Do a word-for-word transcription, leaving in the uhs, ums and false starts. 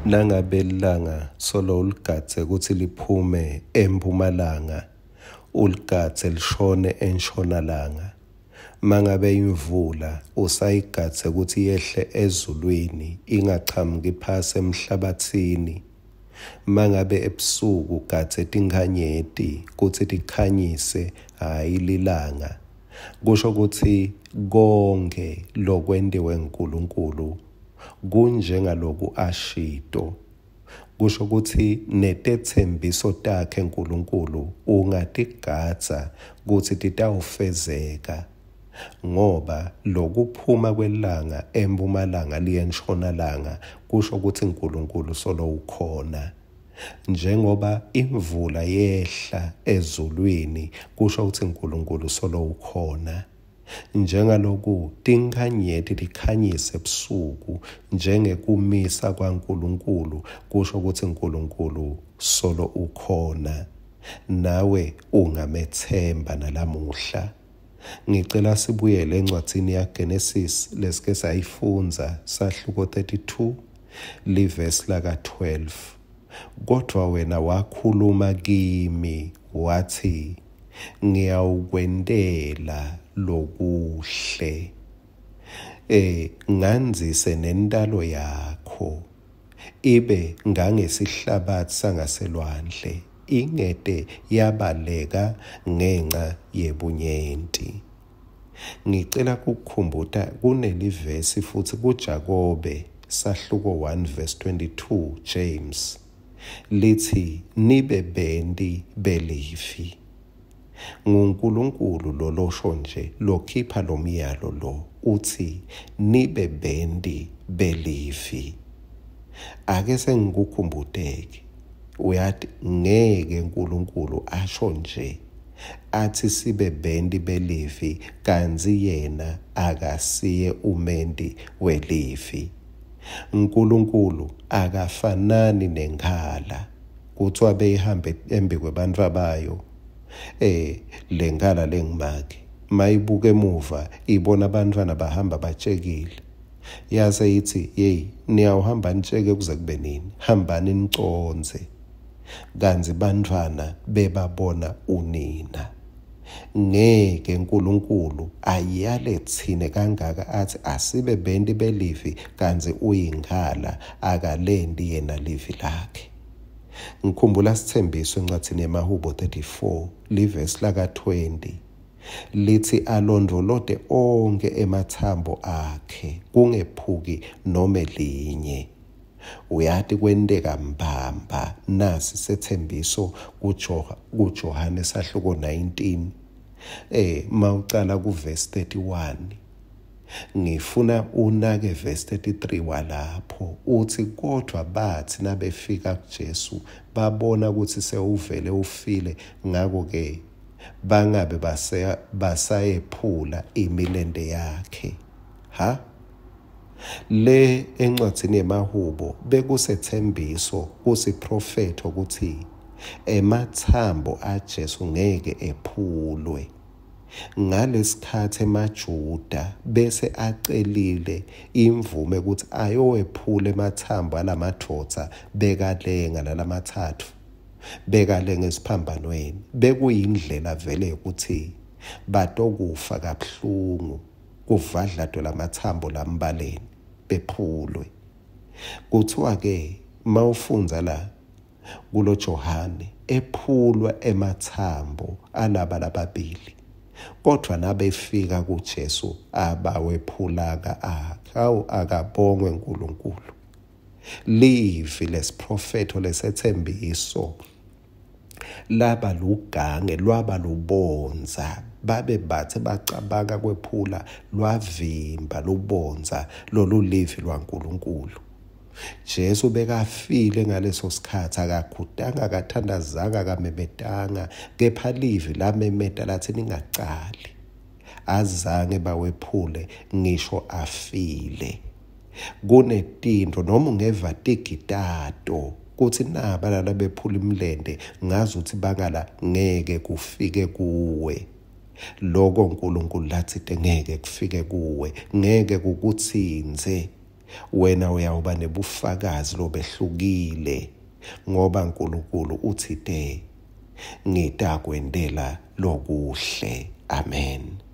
Nangabe lilanga solo uligadze kutsi liphume empumalanga, uligadze lishone enshonalanga. Mangabe imvula usayigadze kutsi yehle ezulwini, ingachamuki phasi emhlabatsini. Mangabe ebusuku ugadze tinkhanyeti kutsi tikhanyise, hhayi lilanga. Kusho kutsi konkhe lokwentiwe nguNkulunkulu kunjengaloku ashito. Kusho kutsi netetsembiso takhe Nkulunkulu ungatigadza kutsi titawufezeka, ngoba lokuphuma kwelanga empumalanga liye enshonalanga kusho kutsi Nkulunkulu solo ukhona. Njengoba imvula yehla ezulwini kusho kutsi Nkulunkulu solo ukhona. Njengaloku tinkhanyeti tikhanyise ebusuku njengekumisa kwaNkulunkulu kusho kutsi Nkulunkulu solo ukhona. Nawe ungamethemba nalamuhla. Ngicela sibuyele encwadzini yaGenesis lesike sayifundza, sahluko thirty-two, livesi laka twelve. Kodvwa wena wakhuluma kimi wathi, ngiyawukwentela lokuhle, eh ngandzise nentalo yakho ibe ngangesihlabathi sangaselwandle, ingete yabaleka ngenca yebunyenti. Ngicela kukukhumbuta kunelivesi futsi kuJakobe sahluko one verse twenty-two, James, lithi nibe benti belivi. NguNkulunkulu lolosho nje lokhipha lomyalo lo, uthi nibe benti belivi. Ake sengikukhumbuteke, uyati ngeke uNkulunkulu asho nje athi sibe benti belivi kantsi yena akasiye umenti welivi. uNkulunkulu akafanani nenkhala kuthiwa beyihambe embi kwebantfu abayo. Eh lenkhala lengimake mayibuka emuva ibona abantwana bahamba batshekile, yase ithi hey, niyawuhamba nitsheke kuze kube nini? Hambani nicondze. Kantsi bantwana bebabona unina. Ngeke uNkulunkulu ayale tsine kangaka athi asibe benti belivi kantsi uyinkhala, akalendi yena livi lakhe. Ngikhumbula sithembiso encwadzini yemaHubo thirty-four livesi laka twenty lithi alondvolote onkhe emathambo akhe kungephuki nome linye. Uyati kwenteka mbamba nasi sethembiso kuJohane sahluko nineteen eh mawucala ku verse thirty-one. Ngifuna unake verse thirty-three walapho uthi kodwa bathi nabefika kuJesu babona ukuthi sewuvele ufile, ngako ke bangabe basayephula imilente yakhe. Ha le encwadzini yemaHubo bekusethembiso kusiprofetho ukuthi emathambo aJesu ngeke ephulwe. Ngalesikhathi emaJuda bese acelile imvume ukuthi ayowephula emathambo alamadvodza bekalenga lalamathathu bekalenga esiphambanweni. Bekuyindlela vele ukuthi batokufa kabuhlungu kuvadladwe lamathambo lambaleni bephulwe. Kuthiwa ke mawufundza la kulo Johane ephulwa emathambo alaba lababili, kodwa nabefika kuJesu abawephulaka akhe. Awu akabongwe uNkulunkulu. Livi lesiprofetho lesethembiso laba lugange lwaba lubonza, babe bathe bacabanga kwephula lwavimba lubonza lolulivi lwaNkulunkulu. Jesu bekafile ngaleso sikhathi, akakhutanga, akathandazanga, akamemetanga, kepha livi lamemeta lathi ningacali. Azange bawephule ngisho afile. Kunetintfo noma ungeva tigitato kutsi naba laba bephula imilente ngazuthi bangala ngeke kufike kuwe. Loko uNkulunkulu latsite ngeke kufike kuwe, ngeke kukutsintse. Wena uyawuba nebufakazi lobehlukile, ngoba Nkulunkulu utsite, Ngitakwentela lokuhle. Amen.